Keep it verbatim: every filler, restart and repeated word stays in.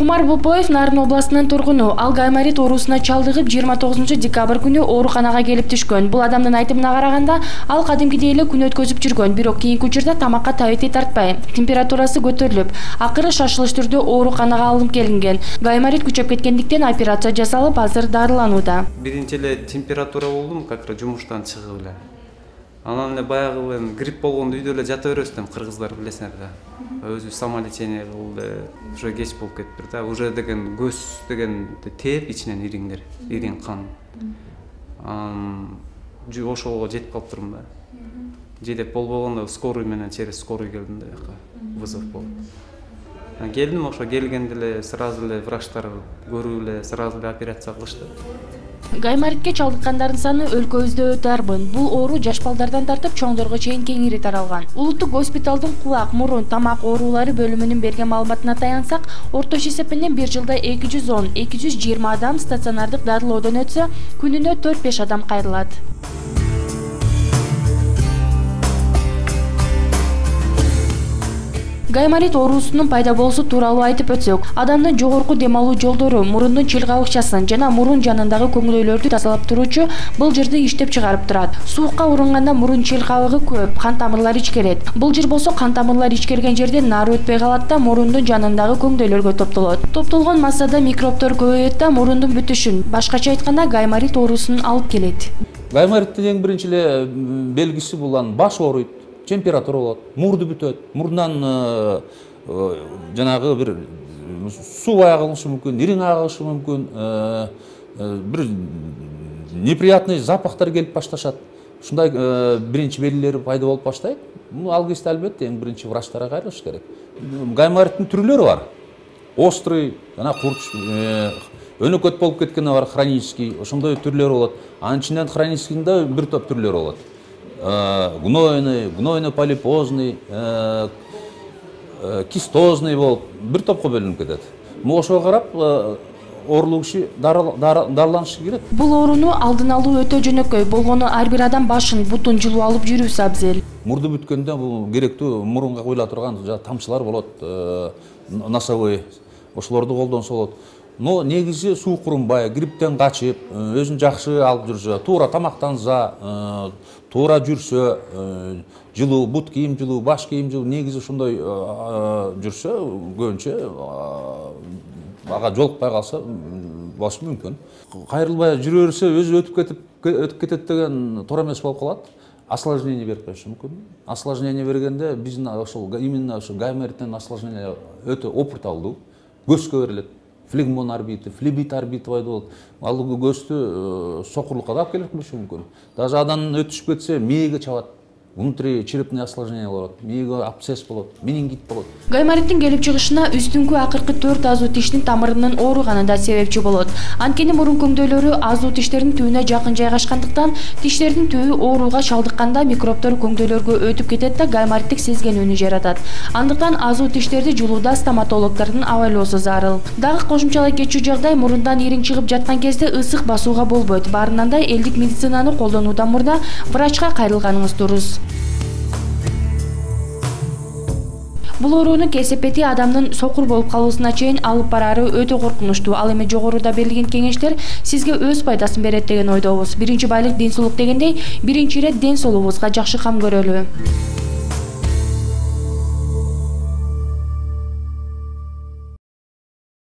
Кумар Бопоев Нарын областынын тургуну. Ал гайморит оорусуна чалдыгып жыйырма тогузунчу декабрь күнү ооруканага келип түшкөн. Бул адамдын айтымына караганда, ал кадимкидей эле күн өткөзүп жүргөн, бирок кийинки учурда тамакка табити тартпай, температурасы көтөрүлүп, акыры шашылыш түрдө ооруканага алынып келинген. Гайморит күчөп кеткендиктен операция жасалып, азыр дарыланууда. Биринчи эле температура болдум, как раз жумуштан чыгып эле. Анан эле баягы грипп болгондо үйдө эле жата беребиз да, кыргыздар билесиңер да. Өзү самолечение кылды, уже кеч болуп кетти да. Уже деген көз деген тээп ичинен ириңдер, ириң кан. Ам ошого жетип калыптырмын да. Жетип болбогондо скорый менен через скорый келдим да жака. Вызов болуп. Келдим, ошо келгенде эле сразу эле врачтар көрүп эле сразу эле операция кылышты. Гайморитке чалдыккандардын саны өлкөбүздө өтө арбын. Бул оору жаш балдардан тартып чоңдорго чейин кеңири таралган. Улуттук госпиталдын кулак, мурун, тамак оорулары бөлүмүнүн берген маалыматына таянсак, орточо эсепинен бир жылда эки жүз он — эки жүз жыйырма адам стационардык дарылоодон өтсө, күнүнө төрт беш адам кайрылат. Гайморит оорусунун пайда болуусу тууралуу айтып өтсөк, адамдын жогорку дем алуу жолдору, мурундун чылгабыкчасын жана мурун жанындагы көңдөйлөрдү тазалап туруучу былжырды иштеп чыгарып турат. Суукка урунганда мурун чылгабыгы көп, кан тамырлар ичкерет. Былжыр болсо кан тамырлар ичкерген жерден нары өтпөй калат да, мурундун жанындагы көңдөйлөргө топтолот. Топтолгон массада микробтор көбөйөт да, мурундун бүтүшүн, башкача айтканда гайморит оорусун алып келет. Гаймориттин эң биринчи эле белгиси бул баш ооруйт. Температура болот, мурду бүтөт, мурундан жанагы бир суу агылышы мүмкүн, ириң агылышы мүмкүн, бир неприятный запахтар келип башташат. Ушундай биринчи белгилери пайда болуп баштайт. Ал кезде албетте эң биринчи врачтарга кайрылыш керек. Гаймориттин түрлөрү бар. Острый, жана курч, өнөкөт болуп кеткени бар, хронический, ошондой түрлөрү болот. Анын ичинен хроническийде бир топ түрлөрү болот. Гнойный, гнойно-полипозный, кистозный болуп бир топко бөлүнүп кетет. Ошого карап оорулуу киши дарыланышы керек. Бул ооруну алдын алуу өтө жөнөкөй. Болгону ар бир адам башын, бутун жылуу алып жүрүүсү абзел. Мурду бүткөндө бул керектүү мурунга куйула турган тамчылар болот, носовой. Ошолорду колдонсо болот. Но негизи суу курунбай, грипптен качып, өзүн жакшы алып жүрсө, туура тамактанса, туура жүрсө, жылуу, бут кийим жылуу, баш кийим жылуу, негизи ошондой жүрсө, көбүнчө ага жолукпай калса болушу мүмкүн. Кайрылбай жүрө берсе, өзү өтүп кетип өтүп кетет деген туура эмес болуп калат. Осложнение берип коюшу мүмкүн. Осложнение бергенде биздин ошол именно ошо гаймориттен осложнение өтө опурталдуу. Көзгө берилет. Флегмон орбиты, флебит орбиты пайда болот. Ал көздү сокурлукка да алып келип коюшу мүмкүн. Даже адан өтүшүп кетсе, мээге чабат. Внутричерепный осложнение болот, мээге абсцесс болот, менингит болот. Гаймориттин келип чыгышына үстүңкү акыркы төрт азуу тиштин тамырынын ооруганы да себепчи болот. Анткени мурун көңдөйлөрү азуу тиштердин түбүнө жакын жайгашкандыктан, тиштердин түбү ооруга чалдыкканда микробтор көңдөйлөргө өтүп кетет да гаймориттик сезгенүүнү жаратат. Андыктан азуу тиштерди жуулууда стоматологдордун абайлоосу зарыл. Дагы кошумчалай кетчү жагдай, мурундан ириң чыгып жаткан кезде ысык басууга болбойт. Баарынан элдик медицинаны колдонуудан мурда врачка кайрылганыңыз дурус. Бул оорунун кесепети адамдын сокур болуп калуусуна чейин алып барары өтө коркунучтуу. Ал эми жогоруда берилген кеңештер сизге өз пайдасын берет деген ойдобуз. Биринчи байлык ден соолук дегендей, биринчи ирет ден соолугубузга жакшы кам көрөлү.